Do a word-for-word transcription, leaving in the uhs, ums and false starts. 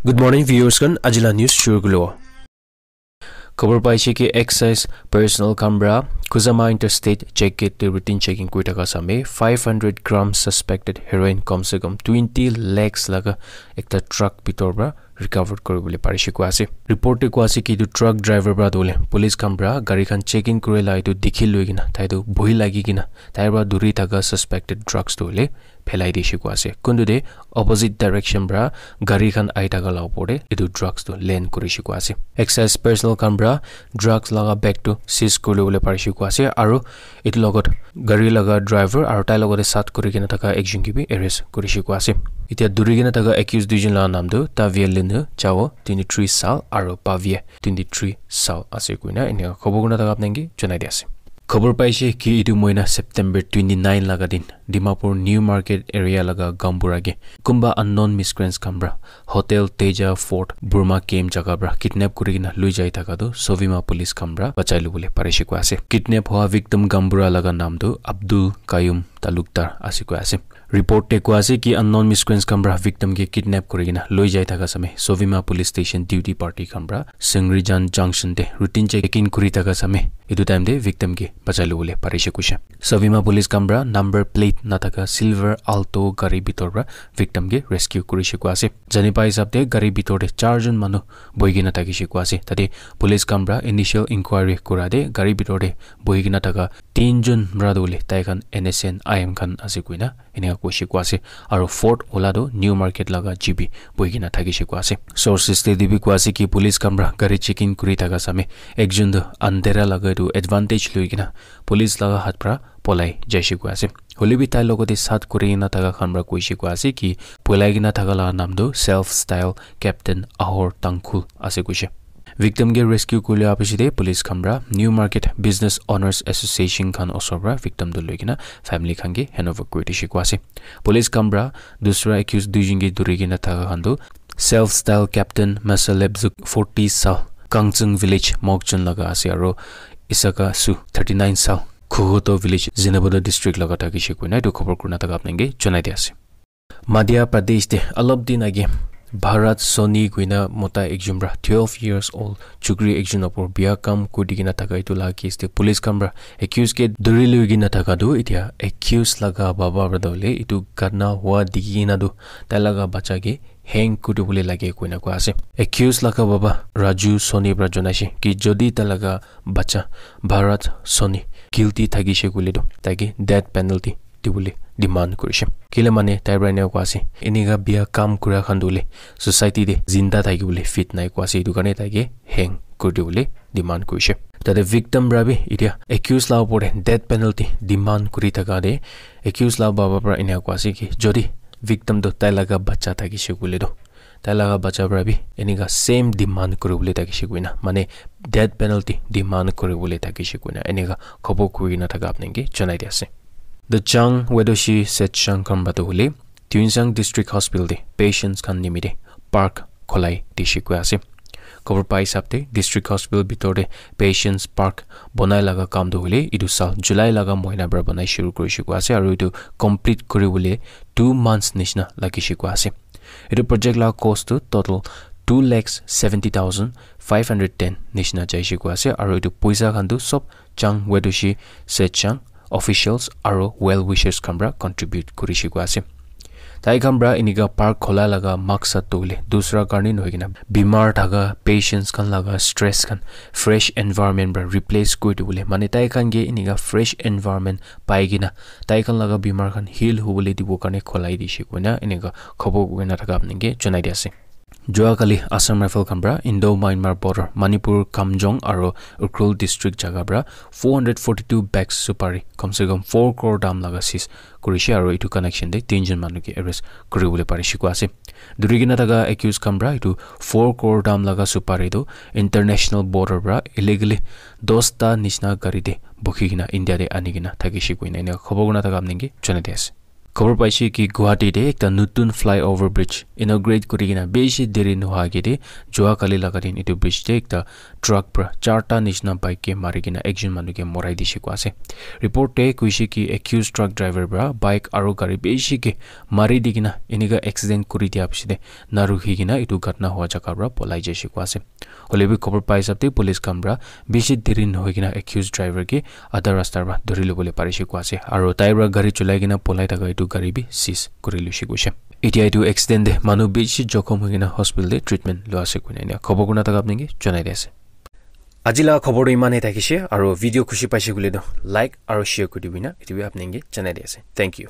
Good morning, viewers khan. Ajila news shuru kulo. Khobor paise ki excise personnel khan pra Kuzama Interstate check gate te routine checking kuri thaka same five hundred gram suspected heroin kom se kom twenty lakhs laga ekta truck bitor pra recovered kuri bole parise koi ase. Report te koi ase ki etu truck driver pra tu hole police khan pra gari khan checking kuri la etu dikhi loi kena tai tu bohi lagi kena tai pra duri thaka suspected drugs tu hole phelai dise koi ase. Kuntu te opposite direction pra gari khan ahi thaka la opor te etu drugs tu land kurise koi ase. Excise personnel khan pra drugs laga bag tu seize kuri bole parise koi ase aru etu logot gari laga driver aru tai logot te sat kuri kena thaka ekjon ke bi arrest kurise koi ase. Etia duri kena thaka accused duijon laga naam tu Tavia Linu Chao, twenty three sal, aru Pavia, twenty three sal ase koina enika khobor kurna thaka apnai ke janai di ase. Khobor paise ki etu mohina September twenty nine laga din Dimapur New Market area laga Gambura ke kunba unknown miscreants khan pra Hotel Teja Fort Burma Camp jaga pra kidnap kuri kena loi jai thaka tu Sovima police khan pra bachai lobole parise koi ase. Kidnap hoa victim Gambura laga naam tu Abdul Kayum Talukdar ase koi ase. Report te koi ase ki unknown miscreants khan pra victim ke kidnap kuri kena loi jai thaka same Sovima police station duty party khan pra Singrijan junction te routine checking kuri thaka same etu time te victim ke bachai lobole parise koise. Sovima police khan pra number plate na thaka silver Alto gari bitor pra victim ke rescue kurise koi ase. Jani pa hisab te gari bitor te char jon manu bohi kena thakise koi ase. Tate police khan pra initial inquiry kura te gari bitor te bohi kena thaka tin jon pra tu hole tai khan N S N I M khan ase koina enika koise koi ase. Aru fourth wala tu New Market laga G B bohi kena thakise koi ase. Sources te bi koi ase ki police khan pra gari checking kuri thaka same ekjon tu andhera laga etu advantage loi kena police laga hath pra polai jaise koi ase. Hole bi tai logot te sat kuri kena thaka khan pra koise koi ase ki polai kena thaka laga naam tu self style Captain Ahor Tangkhul ase koise. Victim ke rescue kuri liya piche te police khan pra New Market Business Owners Association khan osor pra victim tu loi kena family khan ke hand over kuri dise koi ase. Police khan pra dusra accused duijon ke duri kena thaka khan tu self style Captain Masalebzuk forty sal Kangchung village Mokchung laga ase aru Isaka Su thirty nine sal Khuhuto village Zunheboto district laga thakise koina etu khobor kurna thaka apnai ke janai di ase. Madhya Pradesh te alop din age Bharat Soni koina mota ekjon pra twelve years old chukri ekjon opor bia kam kuri kena thaka etu laga case te police khan pra accused ke duri loi kena thaka tu etia accused laga baba pra tu hole etu ghotna hua dikhi kena tu tai laga bacha ke hang kuri bole lage koina koi ase. Accused laga baba Raju Soni pra janaise ki jodi tai laga bacha Bharat Soni guilty thakise koile tu tai ke death penalty dibole demand kurise. Kile mane tai pra enika koi ase, enika bia kam kura khan tu hole society te zinda thaki bole fit nai koi ase, etu karne tai ke hang kuri dibole demand kurise. Tate victim pra bi etia accused la opor te death penalty demand kuri thaka te accused la baba pra enika koi ase ki jodi victim tu tai laga bacha thakise koile tu tai laga bacha pra bi enika same demand kuri bole thakise koina mane death penalty demand kuri bole thakise koina enika khobor kuri kena thaka apnai ke janai di ase. The Chang Wedoshi Setchang khan pra tu hole Tuensang District Hospital te patients khan nimite park kholai dise koi ase. Khobor pa hisab te District Hospital bitor te patients park bonai laga kam tu hole etu sal July laga mohina pra bonai shuru kurise koi ase aru etu complete kuri bole two months nishina lagise koi ase. Etu project la cost tu total two lakhs seventy thousand five hundred ten nishina jaise koi ase aru etu poisa khan tu sob Chang Wedoshi Setchang officials aru well wishers khan pra contribute kurise koi ase. Tai khan pra enika park khola laga maksad tu hole dusra karne nohoi kena bimar thaka patients khan laga stress khan fresh environment pra replace kuri dibole mane tai khan ke enika fresh environment pai kena tai khan laga bimar khan heal hobole dibo karne kholai dise koina enika khobor kuri kena thaka apnai ke janai di ase. Jua kali Assam Rifle khan pra Indo Myanmar border Manipur Kamjong aru Ukhrul district jaga pra four hundred forty two bags supari kom se kom four crore dam laga seize kurise aru etu connection te tinjon manu ke arrest kuri bole parise koi ase. Duri kena thaka accused khan pra etu four crore dam laga supari tu international border pra illegally dosta nishina gari te bukhi kena India te ani kena thakise koina enika khobor kurna thaka apnai ke janai di ase. Khobor paise ki Guwahati te ekta nutun flyover bridge inaugurate kuri kena bishi deri nohoa age te jua kali laga din etu bridge te ekta truck pra charta nishina bike ke mari kena ekjon manu ke morai dishe koa ase. Report te koishe ki accused truck driver pra bike aro gari bishi ke mari di kena enika accident kuri dia piche te na rukhi kena etu ghatna hoa jaga pra polai jaishe koa ase. Hoile bi khobor pai hisab te police khan pra bishi deri nohoi kena accused driver ke adha rasta pra dhuri lobole parishe koa ase. Aro tai pra gari cholai kena polai thaka etu gari bi seize kuri loishe koishe. Etia etu accident te manu bishi jokhom hoi kena hospital te treatment lua ase koina enika khobor kurna thaka apni ke janai di ase. Aji laga khobor tu iman he thakishe, aro video khushi paishe koile tu like aro share kuri dibi na, etu bi apni ke janai di ase. Thank you.